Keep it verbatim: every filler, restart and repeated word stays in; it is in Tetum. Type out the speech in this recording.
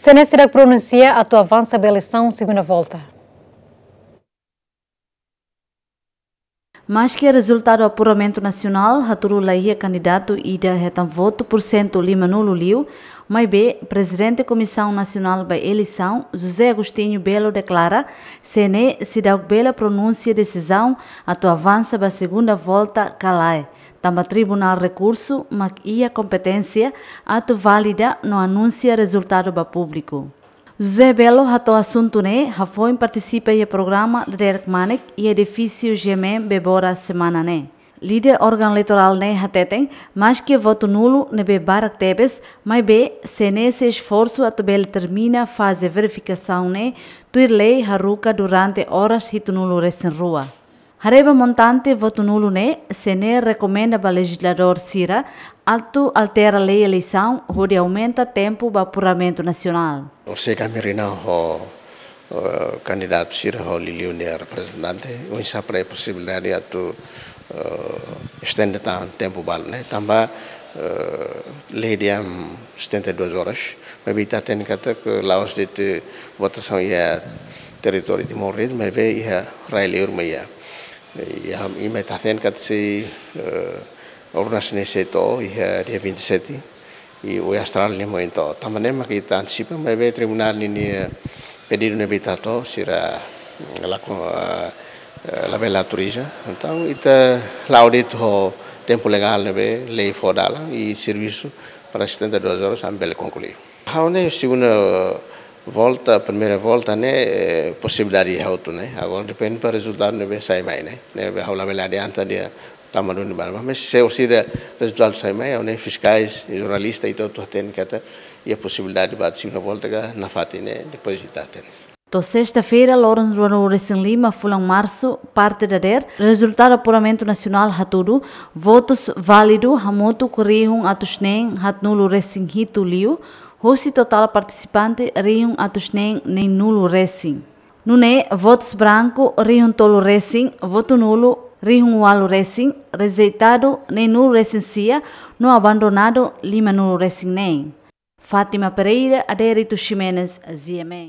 CNE seidauk pronunsia atu avansa ba eleisaun segunda volta. Maski rezultadu apuramentu nasionál hatudu la iha kandidatu ida hetan votu pursentu limanulu liu, maibé Prezidente Komisaun Nasionál ba Eleisaun, José Agostinho Belo, deklara CNE seidauk bele pronunsia desizaun atu avansa ba segunda volta ka lae, tanba Tribunál Rekursu mak iha kompeténsia atu valida no anunsia rezultadu ba públiku. José Belo hato'o asuntu ne'e hafoin partisipa iha programa Dadeer Kmanek iha edifísiu GMN Bebora semana ne'e. Líder órgaun eleitorál ne'e hateten, maski votu nulu ne'ebé barak tebes, maibé CNE sei esforsu atu bele termina faze verifikasaun ne'e tuir lei haruka durante oras hitunulu resin rua. Haree ba montante votu nulu ne'e, CNE rekomenda ba lejizladór sira atu altera lei eleisaun hodi aumenta tempu ba apuramentu nasionál. Orsida ami reúne ho, eh, kandidatu sira ho liuliu nia reprezentante, oinsá para posibilidade atu, eh, estende tan tempu balu ne'e, tanba, eh, lei dehan setenta e duas horas, maibé ita hatene katak la'ós de'it votasaun iha territóriu Timor de'it, maibé iha rai liur mak iha. Iha, ita hatene katak sei, eh, urnas ne'e sei to'o iha dia vinte e sete, i oin Austrália nian mós to'o. Tanba ne'e mak ita antisipa, maibé tribunál ninia pedidu ne'ebé ita hato'o, sira, mm, la ko-, eh, eh, labele autoriza. Entaun, ita la'o de'it ho tempu legál ne'ebé lei fó dalan i servisu para setenta e duas horas ami bele konklui. Ha'u hanoin segunda volta, primeira volta ne'e, eh, posibilidade iha hotu ne'e. Agora depende ba rezultadu ne'ebé sai mai ne'e. Ne'ebé ha'u labele adianta dehan tanba duni ba. Mas se orsida rezultadu sai mai, ha'u hanoin fiskais, jornalista, ita hotu hatene katak iha posibilidade ba segunda volta ka nafatin ne'e, depois ita hatene. To'o sesta-feira, loron ruanulu resin lima fulan Marsu, parte dadeer, rezultadu apuramentu nasionál hatudu, votus válidu hamutuk rihun atus neen haatnulu resin hitu liu, husi totál partisipante rihun atus neen neenulu resin. Nune'e, votus branku rihun tolu resin, votu nulu rihun ualu resin, rejeitadu neenulu resin sia, no abandonadu limanulu resin neen. Fátima Pereira, Adérito Ximenes, GMN.